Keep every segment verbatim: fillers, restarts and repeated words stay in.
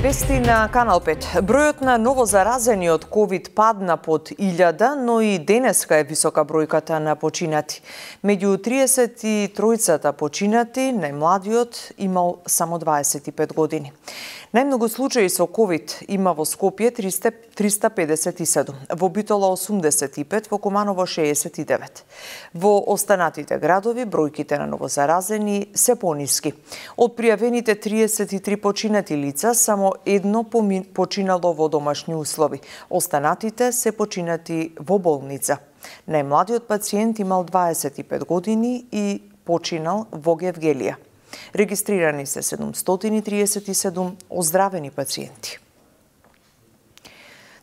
Вести на Канал пет. Бројот на новозаразени од ковид падна под илјада, но и денеска е висока бројката на починати. Меѓу триесет и тројцата починати, најмладиот имал само дваесет и пет години. Најмногу случаи со ковид има во Скопје триста педесет и седум, во Битола осумдесет и пет, во Куманово шеесет и девет. Во останатите градови бројките на новозаразени се пониски. Од пријавените триесет и три починати лица, само едно починало во домашни услови. Останатите се починати во болница. Најмладиот пациент имал дваесет и пет години и починал во Гевгелија. Регистрирани се седумстотини и триесет и седум оздравени пациенти.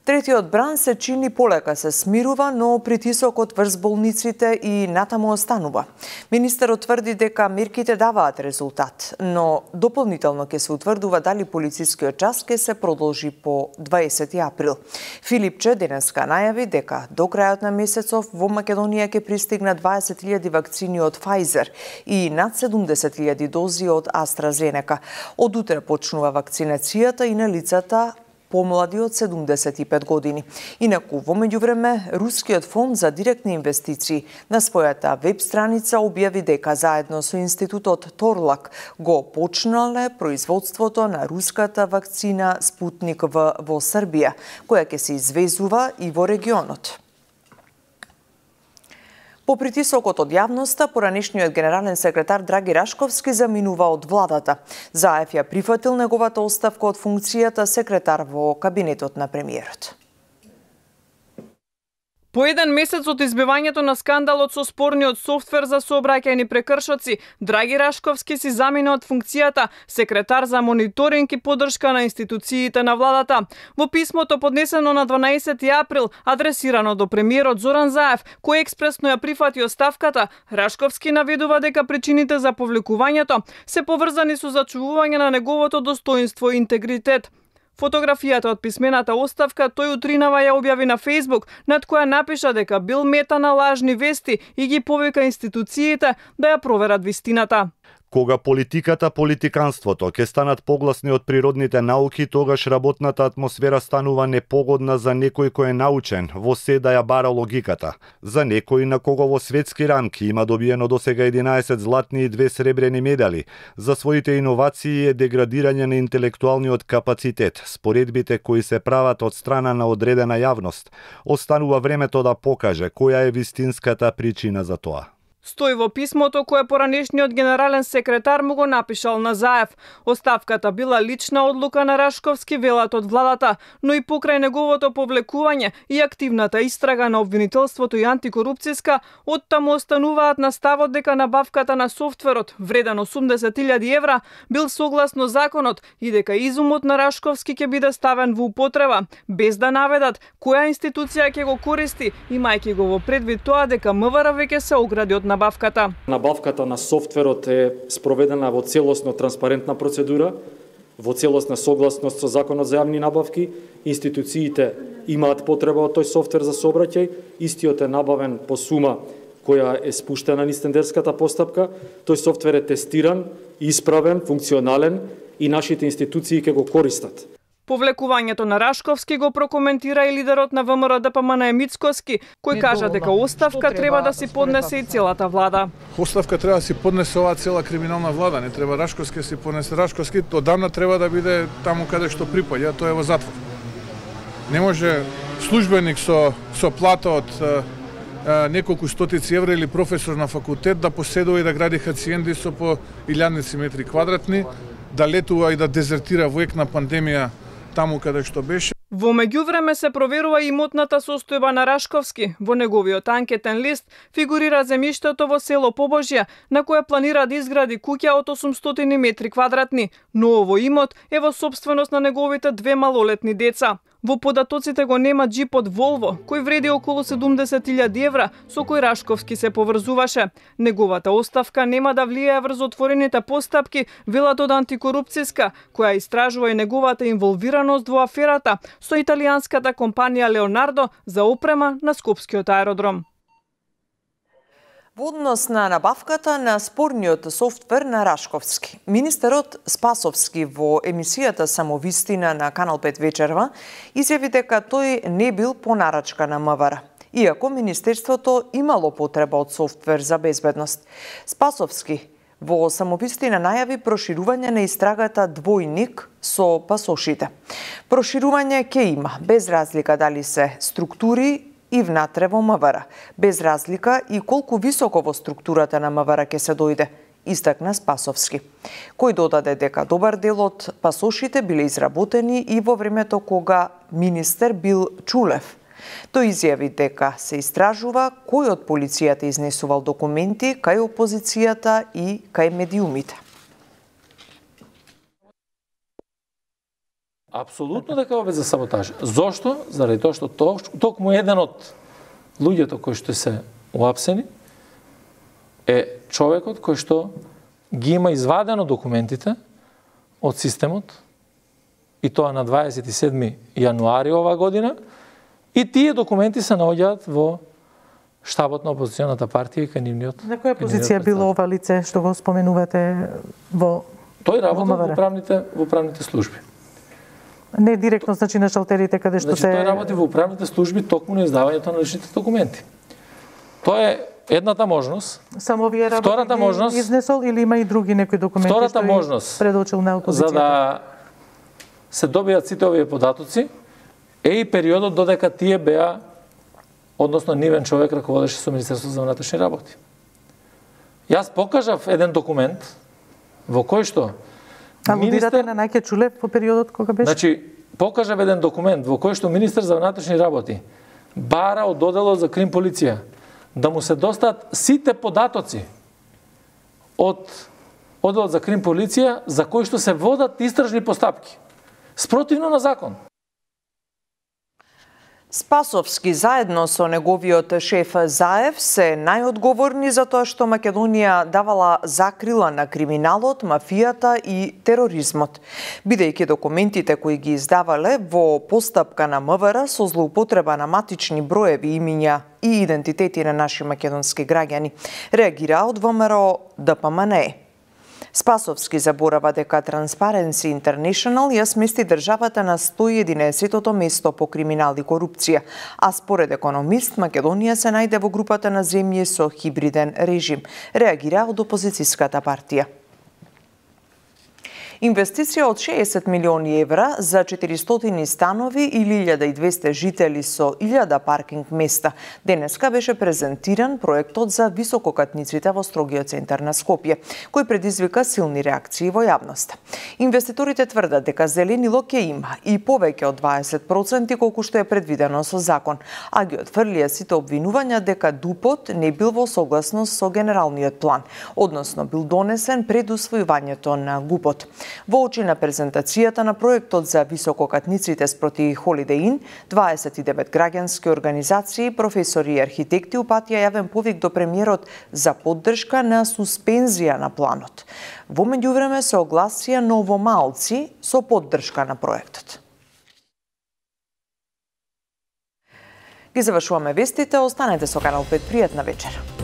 Третиот бран се чини полека се смирува, но притисокот врз болниците и натаму останува. Министерот тврди дека мерките даваат резултат, но дополнително ќе се утврдува дали полицискиот час ќе се продолжи по дваесети април. Филипче денеска најави дека до крајот на месецов во Македонија ќе пристигнат дваесет илјади вакцини од Pfizer и над седумдесет илјади дози од AstraZeneca. Од утре почнува вакцинацијата и на лицата помлади од седумдесет и пет години. Инаку, во меѓувреме, Рускиот фонд за директни инвестиции на својата веб страница објави дека заедно со институтот Торлак го почнале производството на руската вакцина Спутник В во Србија, која ќе се извезува и во регионот. По притисокот од јавноста, поранешниот генерален секретар Драги Рашковски заминува од владата. Заев ја прифатил неговата оставка од функцијата секретар во кабинетот на премиерот. По еден месец од избивањето на скандалот со спорниот софтвер за сообраќајни прекршоци, Драги Рашковски си замина од функцијата секретар за мониторинг и поддршка на институциите на владата. Во писмото поднесено на дванаесети април, адресирано до премиерот Зоран Заев, кој експресно ја прифати оставката, Рашковски наведува дека причините за повлекувањето се поврзани со зачувување на неговото достоинство и интегритет. Фотографијата од писмената оставка тој утринава ја објави на Facebook, над која напиша дека бил мета на лажни вести и ги повика институциите да ја проверат вистината. Кога политиката, политиканството ќе станат погласни од природните науки, тогаш работната атмосфера станува непогодна за некој кој е научен во се да ја бара логиката. За некој на кого во светски рамки има добиено досега единаесет златни и две сребрени медали, за своите иновации е деградирање на интелектуалниот капацитет, споредбите кои се прават од страна на одредена јавност. Останува времето да покаже која е вистинската причина за тоа. Стои во писмото кое поранешниот генерален секретар му го напишал на Заев. Оставката била лична одлука на Рашковски, велат од владата, но и покрај неговото повлекување и активната истрага на обвинителството и антикорупцијска, оттаму остануваат на ставот дека набавката на софтверот, вреден осумдесет илјади евра, бил согласно законот и дека изумот на Рашковски ќе биде ставен во употреба, без да наведат која институција ќе го користи, имајќи го во предвид тоа дека МВР веќе се огради од набавката. Набавката на софтверот е спроведена во целосно транспарентна процедура, во целосна согласност со Законот за јавни набавки. Институциите имаат потреба од тој софтвер за сообраќај, истиот е набавен по сума која е спуштена низ тендерската постапка. Тој софтвер е тестиран, исправен, функционален и нашите институции ќе го користат. Повлекувањето на Рашковски го прокоментира и лидерот на ВМРО Д П М Н Мицкоски, кој кажа дека оставка треба да си поднесе и целата влада. Оставка треба да си поднесе оваа цела криминална влада, не треба Рашковски да си поднесе. Рашковски одамна треба да биде таму каде што припаѓа, тоа е во затвор. Не може службеник со со плата од а, неколку стотици евра или професор на факултет да поседува и да гради хациенди со по илјадници метри квадратни, да летува и да дезертира во ек на пандемија таму каде што беше. Во меѓувреме се проверува и имотната состојба на Рашковски. Во неговиот анкетен лист фигурира земјиштето во село Побожје, на кое планира да изгради куќа од осумстотини метри квадратни, но овој имот е во сопственост на неговите две малолетни деца. Во податоците го нема джип од Волво, кој вреди околу седумдесет илјади евра, со кој Рашковски се поврзуваше. Неговата оставка нема да влијае врз отворените постапки, велат од антикорупцијска, која истражува и неговата инволвираност во аферата со италијанската компанија Леонардо за опрема на Скопскиот аеродром. Во однос на набавката на спорниот софтвер на Рашковски, министерот Спасовски во емисијата Самовистина на Канал пет вечерва изјави дека тој не бил по нарачка на МВР, иако министерството имало потреба од софтвер за безбедност. Спасовски во Самовистина најави проширување на истрагата Двојник со пасошите. Проширување ќе има, без разлика дали се структури и внатре во МВР, без разлика и колку високо во структурата на МВР ќе се дојде, истакна Спасовски, кој додаде дека добар дел од пасошите биле изработени и во времето кога министер бил Чулев. Тој изјави дека се истражува кој од полицијата изнесувал документи кај опозицијата и кај медиумите. Апсолутно дека ова за саботаж. Зошто? Заради тоа што токму еден од луѓето кои што се уапсени е човекот кој што ги има извадено документите од системот и тоа на дваесет и седми јануари оваа година и тие документи се наоѓаат во штабот на опозиционата партија и кај нивниот. На која позиција било ова лице што го споменувате во Тој работи во управните во управните служби. Не директно, значи на шалтерите каде што значи, се... Тој работи во управните служби токму на издавањето на личните документи. Тоа е едната можност. Само вие работи Втората можност, изнесол или има и други некои документи втората што можност, предочил на опозицијата? За да се добијат сите овие податоци, е и периодот додека тие беа, односно нивен човек раководеше со Министерството за внатрешни работи. Јас покажав еден документ во кој што Алудирате на Најке Чулев во периодот кога беше? Значи, покажав еден документ во кој што министер за внатрешни работи бара од одделот за крим полиција да му се достат сите податоци од одделот за крим полиција за кои што се водат истражни постапки спротивно на закон. Спасовски заедно со неговиот шеф Заев се најодговорни за тоа што Македонија давала закрила на криминалот, мафијата и тероризмот, бидејќи документите кои ги издавале во постапка на МВР со злоупотреба на матични броеви, имиња и идентитети на наши македонски граѓани, реагира од ВМРО Д П М Н Е. Спасовски заборава дека Transparency International ја смести државата на сто и единаесеттото место по криминал и корупција, а според економист Македонија се најде во групата на земји со хибриден режим, реагира од опозицијската партија. Инвестиција од шеесет милиони евра за четиристотини станови или илјада и двесте жители со илјада паркинг места. Денеска беше презентиран проектот за висококатниците во строгиот центар на Скопје, кој предизвика силни реакции во јавноста. Инвеститорите тврдат дека зеленило ќе има и повеќе од дваесет проценти колку што е предвидено со закон, а ги отфрлија сите обвинувања дека ДУП-от не бил во согласност со генералниот план, односно бил донесен пред усвојувањето на ГУП-от. Во очи на презентацијата на проектот за висококатниците спроти Holiday Inn, дваесет и девет граѓански организации, професори и архитекти упатија јавен повик до премиерот за поддршка на суспензија на планот. Во меѓувреме се огласија новомалци со поддршка на проектот. Ги завршуваме вестите, останете со Канал пет, пријатна вечер.